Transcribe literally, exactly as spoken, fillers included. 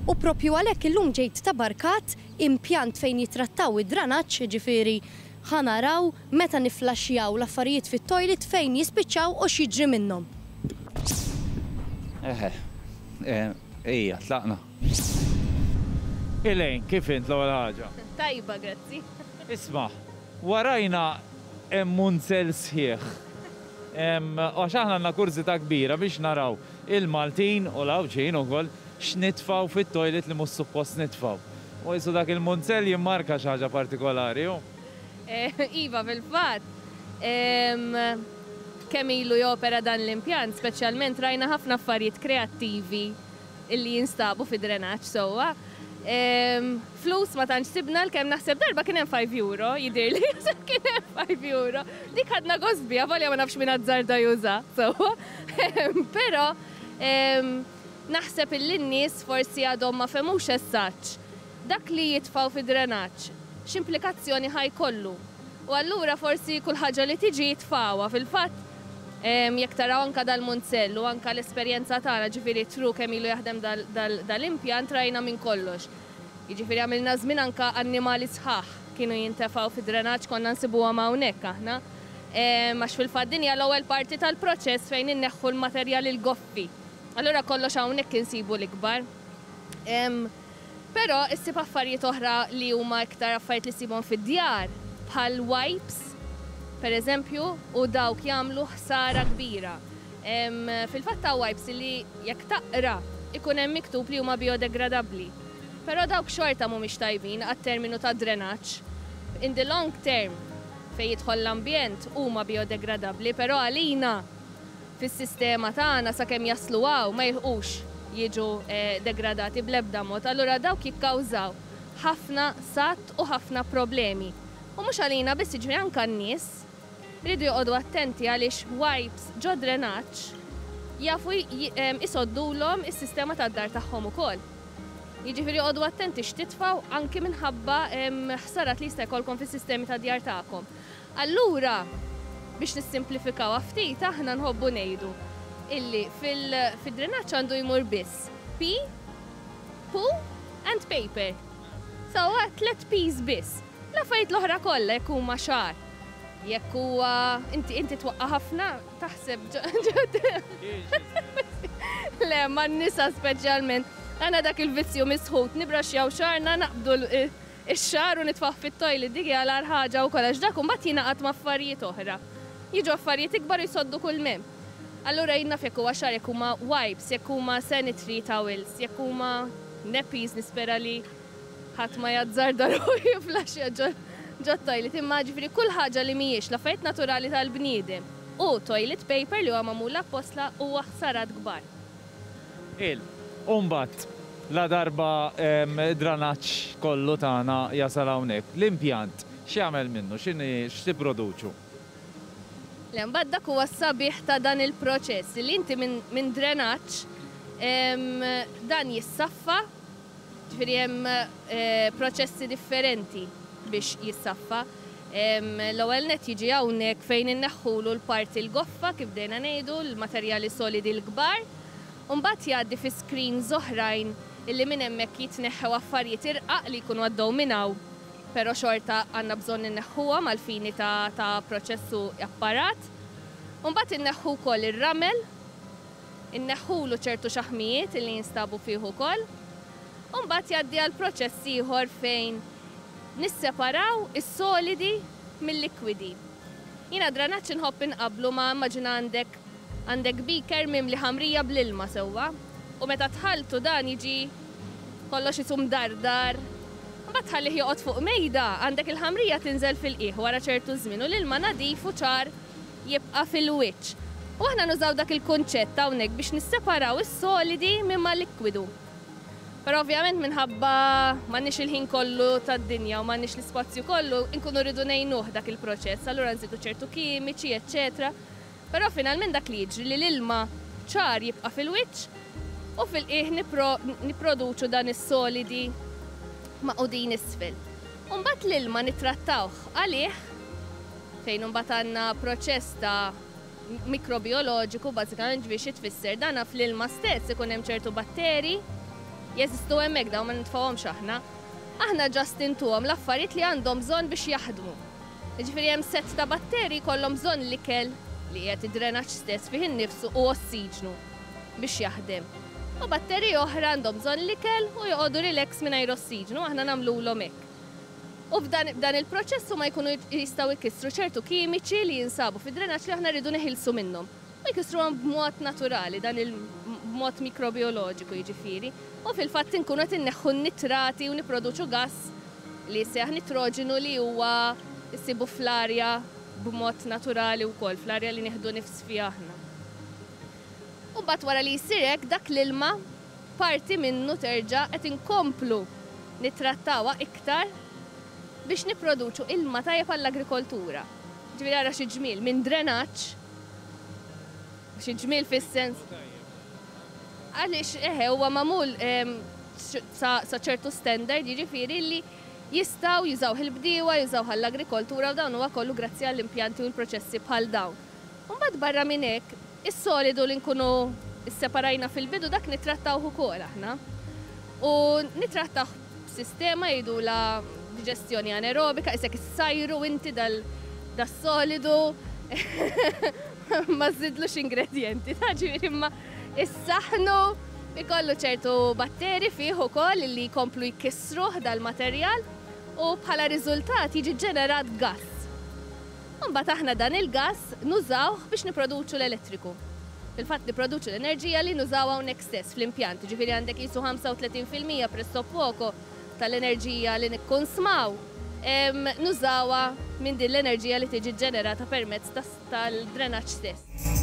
U propju għalhekk illum ġejt Ta' Barkat, impjant fejn jitrattaw id-dranaġġ, ġifieri ħa naraw meta niflaxjaw l-affarijiet fit-toilet fejn jispiċċaw u x'jiġri minnhom. Eħe, ejja, tlaqna. Elaine, kif int l-ewwel ħaġa? Tajba, grazzi. Isma', warajna hemm munzell sħiħ. Għax aħna għandna kurżità kbira biex naraw il-Maltin u l-Għawdxin ukoll x'nitfgħu fit-toilet li mhux suppost nitfgħu. U jisu dak il-munzell jimmarka xi ħaġa partikolari, hu? Iva, fil-fatt. Kemm ilu jopera dan l-impjant, speċjalment rajna ħafna affarijiet kreattivi illi jinstabu fi drenaġġ sewwa. Flus ma tantx sibna, l-kemm naħseb darba kien hemm five euro, jidhirli kien hemm five euro. Dik ħadna gost biha, volja ma nafx min azzarda juża, sewwa. Però naħseb illi n-nies forsi għadhom ma fehmux eżatt dak li jitfgħu fi drenaġġ, x'implikazzjoni ħa jkollu. U allura forsi kull ħaġa li tiġi jitfgħuha. Fil-fatt, jekk taraw anka dal-munzell u anka l-esperjenza tagħna, ġifieri tru kemm ilu jaħdem dal-impjant, rajna minn kollox. Jiġifieri għamilna żmien anka annimali sħaħ kienu jintefgħu fi drenaġġ, konna nsibuhom hawnhekk aħna. Għax fil-fatt din hija l-ewwel parti tal-proċess fejn inneħħu l-materjali l-goffi. Allura kollox hawnhekk insibu l-ikbar. Però issib affarijiet oħra li huma iktar affarijiet li ssibhom fid-djar, bħal wipes, per eżempju, u dawk jagħmlu ħsara kbira. Fil-fatt ta' wipes li jekk taqra ikun hemm miktub li huma biodegradabbli. Però dawk xorta mhumiex tajbin għat-terminu ta' drenaġġ. In the long term, fejn jidħol l-ambjent, huma biodegradabbli, però għalina fis-sistema tagħna sakemm jaslu hawn ma jilħqux jiġu eh, degradati bl-ebda mod. Allura dawk jikkawżaw ħafna satt u ħafna problemi. U mhux għalina biss, jiġri anke n-nies iridu joqogħdu attenti għaliex wipes ġo drenaġġ jafu isoddulhom is-sistema tad-dar tagħhom ukoll. Jiġifieri joqogħdu attenti x'titfgħu anki minħabba ħsarat li jista' jkollkom fis-sistemi tad djar tagħkom. Allura, biex nissimplifikaw ftit, aħna nħobbu ngħidu illi fil-drenaġġ għandu jmur biss pee, poo and paper. So, tlet P's biss. L-affarijiet l-oħra kollha, jekk huma xagħar, jekk huwa inti inti twaqqa ħafna, taħseb. Le, ma n-nisa speċjalment. Għandna dak il-vizzju misħut, nibraxjaw xagħarna, naqbdu ix-xagħar u nitfgħuh fit-toilet. Dik hija l ħaġa wkoll għax dak imbagħad jingħaqad ma' affarijiet oħra. Jiġu affarijiet ikbar jisoddu kull mem. Allura jien naf jekk huwa xagħar, jekk huma wipes, jekk huma sanitary towels, jekk huma nappies, nispera li ħadd ma jazzarda ruħu jiflaxja ġo toilet. Imma ġifieri kull ħaġa li mhijiex l-affarijiet naturali tal-bniedem u toilet paper li huwa magħmul apposta huwa ħsarat kbar. Il, imbagħad, la darba dranaġġ kollu tagħna jasal hawnhekk, l-impjant x'jagħmel minnu, x'inhi x'tipproduċu? Le, mbagħad dak huwa s-sabiħ ta' dan il-proċess li inti minn min drenaġġ dan jissaffa, ġifieri hemm eh, proċessi differenti biex jissaffa. L-ewwel net jiġi hawnhekk fejn inneħħulu l-parti l-goffa, kif dejna ngħidu, l-materjali solidi l-kbar. U mbagħad jgħaddi fi screens oħrajn illi minn hemmhekk jitneħħew affarijiet irqaq li jkunu għaddew minn hawn, però xorta għandna bżonn inneħħuhom għal fini ta', ta proċessu apparat. U mbagħad inneħħu wkoll ir-ramel, inneħħulu ċertu xaħmijiet illi jinstabu fih ukoll. U mbagħad jgħaddi għal proċess ieħor fejn nisseparaw is-solidi mill-likwidi. Jiena dranaġġ inħobb inqablu ma' immaġina għandek għandek beaker mimli ħamrija bl-ilma sewwa u meta tħaltu dan jiġi kollox isum dardar. Mbagħad tħallih joqgħod fuq mejda, għandek il-ħamrija tinżel fil-qiegħ wara ċertu żmien u l-ilma nadif u ċar jibqa' fil-wiċċ. U aħna nużaw dak il-kunċett hawnhekk biex nisseparaw is-solidi minn ma likwidu. Però ovvjament minħabba m'għandniex il-ħin kollu tad-dinja u m'għandniex l-ispazju kollu, inkunu rridu ngħinuh dak il-proċess, allura nżidu ċertu kimiċi, eċċetera. Però finalment dak li jiġri li l-ilma ċar jibqa' fil-wiċċ u fil-qiegħ nipproduċu dan is-solidi maqudin isfel. Umbagħad l-ilma nittrattawh għalih fejn imbagħad għandna proċess ta' mikrobioloġiku bażikament, biex tfisser dana fl-ilma stess ikun hemm ċertu batteri Jeżistu hemmhekk dawn, ma nitfgħuhomx aħna. Aħna just intuhom l-affarijiet li għandhom bżonn biex jaħdmu. Jiġifieri hemm set ta' batteri jkollhom bżonn l-ikel li qiegħed id-drenaġġ stess fih innifsu u ossiġnu biex jaħdem. U batteri oħra għandhom bżonn l-ikel u joqogħdu relax mingħajr ossiġnu, aħna nagħmluhom hekk. U f'dan il-proċess huma jkunu jistgħu jkissru ċertu kimiċi li jinsabu fid-drenaġġ li aħna rridu neħilsu minnhom. U jkissruhom b'mod naturali, dan il-mod mikrobioloġiku jiġifieri. U fil-fatt inkunu qed inneħħu n-nitrati u nipproduċu gass li jsejjaħ nitroġenu li huwa issibu fl-arja b'mod naturali wkoll, fl-arja li nieħdu nifs fiha aħna. U mbagħad wara li jsir hekk, dak l-ilma parti minnu terġa' qed inkomplu nittrattawha iktar biex nipproduċu ilma tajjeb għall-agrikoltura. Ġifieri ara xi ġmiel minn drenaġġ, xi ġmiel fis-sens. Għaliex eħe huwa magħmul sa ċertu standard, jiġifieri li jistgħu jużaw il-bdiewa, jużaw għall-agrikoltura, u dawn huwa kollu grazzi għall-impjanti u l-proċessi bħal dawn. Mbagħad barra minn hekk, is-solidu li nkunu isseparajna fil-bidu, dak nittrattawh ukoll aħna. U nittrattawh b'sistema jgħidulha diġestjoni anaerobika, isek issajru inti dal-solidu, ma żidlux ingredienti, ta' ġifieri imma issaħnu, ikollu ċertu batteri fih ukoll li jkomplu jkissruh dal-materjal u bħala riżultat jiġi ġenerat gass. Mbagħad aħna dan il-gass nużawh biex niproduċu l-elettriku. Fil-fatt niproduċu l-enerġija li nużaw hawnhekk stess fl-impjant, ġifieri għandek qisu ħamsa u tletin fil-mija pressappoco tal-enerġija li nikkonsmaw nużawha minn din l-enerġija li tiġi ġenerata permezz tal-drenaġġ stess.